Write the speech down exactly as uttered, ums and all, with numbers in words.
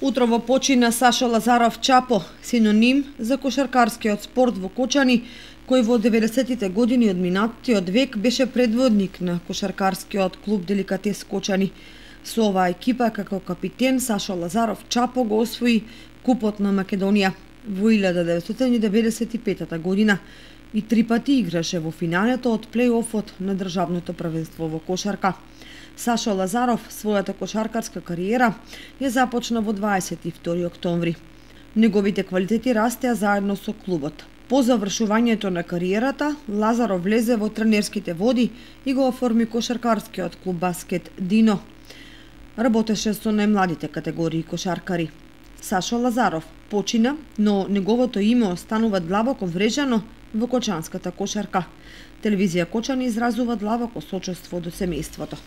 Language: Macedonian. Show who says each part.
Speaker 1: Утрово почина Сашо Лазаров Чапо, синоним за кошаркарскиот спорт во Кочани, кој во деветдесеттите години од минатиот век беше предводник на кошаркарскиот клуб Деликатес Кочани. Со оваа екипа како капитен Сашо Лазаров Чапо го освои Купот на Македонија во илјада деветстотини и деветдесет и петата година и три пати играше во финалето од плејофот на државното првенство во кошарка. Сашо Лазаров својата кошаркарска кариера ја започна во дваесет и втори октомври. Неговите квалитети растеа заедно со клубот. По завршувањето на кариерата, Лазаров влезе во тренерските води и го оформи кошаркарскиот клуб Баскет Дино. Работеше со најмладите категории кошаркари. Сашо Лазаров почина, но неговото име останува длабоко врежано во кочанската кошарка. Телевизија Кочани изразува длабоко сочувство до семејството.